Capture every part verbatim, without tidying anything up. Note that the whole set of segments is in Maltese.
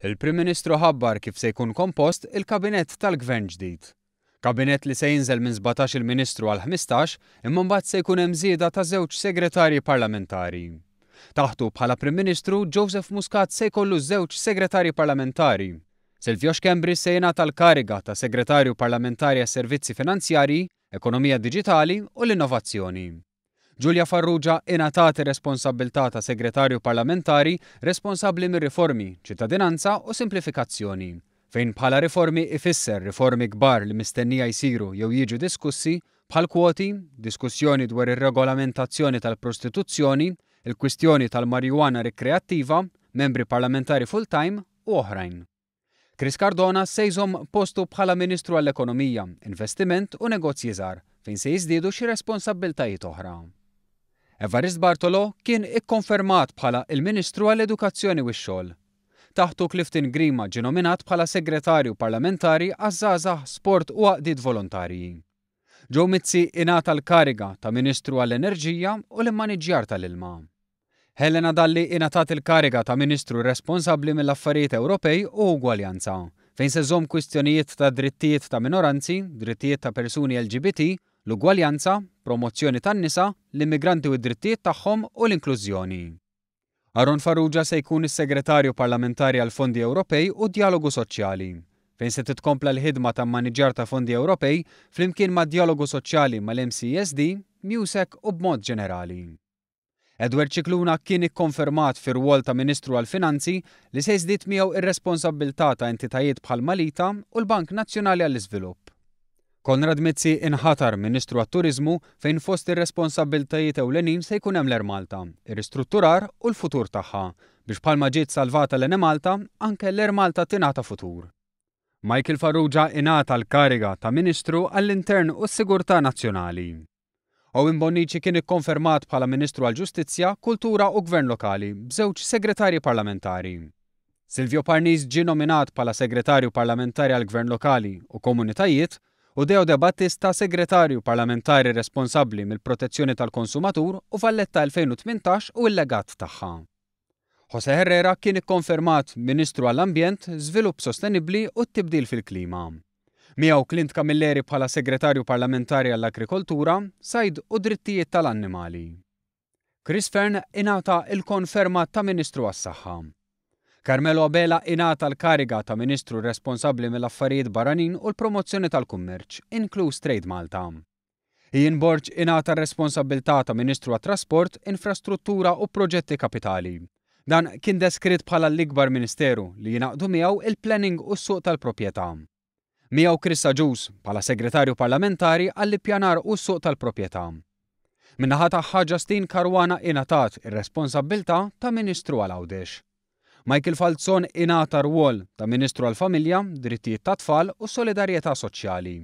Il-Prim Ministru ħabbar kif se jkun kompost il-Kabinett tal-Gvern ġdid. Kabinett li se jinżel minn sbatax il-Ministru għal ħmistax, imma mbagħad se jkun hemm żieda ta' żewġ segretarji parlamentari. Taħtu bħala Prim Ministru, Joseph Muscat se jkollu żewġ segretarji parlamentari. Silvio Schembri se jingħata l-kariga ta' Segretarju Parlamentari għas-Servizzi Finanzjarji, Ekonomija Diġitali u l-Innovazzjoni. Julia Farrugia ingħatat ir-responsabbiltà ta' Segretarju Parlamentari responsabbli mir-riformi, ċittadinanza u simplifikazzjoni, fejn bħala riformi ifisser riformi kbar li mistennija jsiru jew jiġu diskussi bħal kwoti, diskussjoni dwar ir-regolamentazzjoni tal-prostituzzjoni, il-kwistjoni tal-marijuana rikreattiva, membri parlamentari full-time u oħrajn. Chris Cardona se jżomm postu bħala Ministru għall-Ekonomija, Investiment u Negozji Żgħar, fejn se jiżdiedu xi responsabbiltajiet oħra. Evarist Bartolo kien ikkonfermat bħala il-Ministru għall-Edukazzjoni u x-Xogħol. Taħtu Clifton Grima ġie nominat bħala Segretarju Parlamentari għaż-Żgħażagħ, Sport u Għaqdiet Volontarji. Joe Mizzi ingħata l-kariga ta' Ministru għall-Enerġija u l-Immaniġġjar tal-Ilma. Helena Dalli ingħatat il-kariga ta' Ministru responsabbli mill-Affarijiet Ewropej u Ugwaljanza, fejn se żomm kwistjonijiet ta' drittijiet ta' minoranzi, drittijiet ta' persuni L G B T, l-ugwaljanza, promozzjoni tan-nisa, l-immigranti u d-drittijiet tagħhom u l-inklużjoni. Aaron Farrugia se jkun is-Segretarju Parlamentari għal Fondi Ewropej u Djalogu Soċjali, fejn se titkompla l-ħidma ta' maniġġar ta' fondi Ewropej flimkien ma' djalogu soċjali mal-M C S D, MUSEC u b'mod ġenerali. Edward Scicluna kien ikkonfermat fir-rwol ta' Ministru għall-Finanzi li se jżdied miegħu ir-responsabbiltà ta' entitajiet bħal Malita u l-Bank Nazzjonali għall-Iżvilupp. Konrad Mizzi inħatar Ministru għat-Turiżmu fejn fost ir-responsabbiltajiet ewlenin se jkun hemm l-Air Malta, ir-ristrutturar u l-futur tagħha, biex bħalma ġiet salvata l-Enemalta, anke l-Air Malta tingħata futur. Michael Farrugia ingħata l-kariga ta' Ministru għall-Intern u s-Sigurtà Nazzjonali. Owen Bonnici kien ikkonfermat bħala Ministru għall-Ġustizzja, Kultura u Gvern Lokali b'żewġ segretarji parlamentari. Silvio Parnis ġie nominat bħala Segretarju Parlamentari għall-Gvern Lokali u Komunitajiet u Deo De Battista Segretarju Parlamentari responsabbli mill-Protezzjoni tal-Konsumatur u Valletta elfejn u tmintax u l-legat tagħha. Jose Herrera kien ikkonfermat Ministru għall-Ambjent, Żvilupp Sostenibbli u t-Tibdil fil-Klima. Miegħu Clint Camilleri bħala Segretarju Parlamentari għall-Agrikoltura, Sajd u Drittijiet tal-Annimali. Chris Fearne ingħata il-konferma ta' Ministru għas-Saħħa. Carmelo Abela ingħata l-kariga ta' Ministru responsabbli mill-Affarijiet Barranin u l-Promozzjoni tal-Kummerċ, inkluż Trade Malta. Ian Borg ingħata r-responsabbiltà ta' Ministru għat-Trasport, Infrastruttura u Proġetti Kapitali. Dan kien deskritt bħala l-ikbar ministeru li jingħaqdu miegħu il-planning u s-suq tal-proprjetà. Miegħu Chris Agius bħala Segretarju Parlamentari għall-ippjanar u s-suq tal-proprjetà. Min-naħa tagħha Justyne Caruana ingħatat ir-responsabbiltà ta' Ministru għal Għawdex. Michael Falzon ingħata rwol ta' Ministru għall-Familja, Drittijiet tat-Tfal u Solidarjetà Soċjali.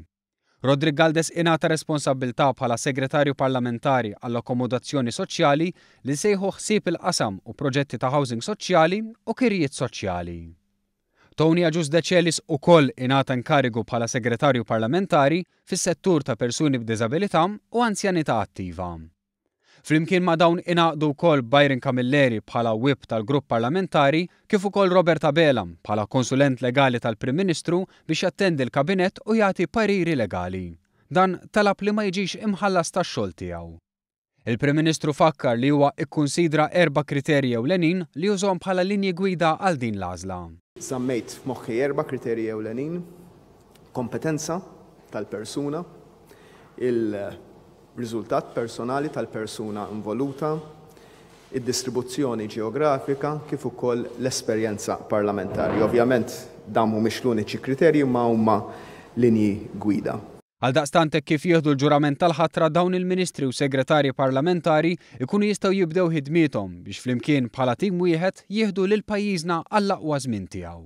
Roderick Galdes ingħata responsabbiltà bħala Segretarju Parlamentari għall-Akkomodazzjoni Soċjali li sejħu ħsieb il-qasam u proġetti ta' housing soċjali u kirjiet soċjali. Tony Agius Decelis ukoll ingħata inkarigu bħala Segretarju Parlamentari fis-settur ta' persuni b'diżabilità u anzjanità attiva. Flimkien ma' dawn ingħaqdu wkoll Byron Camilleri bħala whip tal-grupp parlamentari kif ukoll Robert Abela bħala konsulent legali tal-Prim Ministru biex jattendi l-kabinett u jagħti pariri legali. Dan talab li ma jiġix imħallas tax-xogħol tiegħu. Il-Prim Ministru fakkar li huwa ikkunsidra erba' kriterji ewlenin li jużhom bħala linji gwida għal din l-għażla. Żammejt f'moħħi erba' kriterji ewlenin: kompetenza tal-persuna, il-riżultat personali tal-persuna involuta, id-distribuzzjoni ġeografika kif ukoll l-esperjenza parlamentari. Ovvjament dawn mhumiex l-uniċi kriterji ma huma linji gwida. Għaldaqstant hekk kif jieħdu l-ġurament tal-ħatra dawn il-ministri u segretarji parlamentari ikunu jistgħu jibdew ħidmiethom biex flimkien bħala tim wieħed jieħdu lil pajjiżna għall-aqwa żmien tiegħu.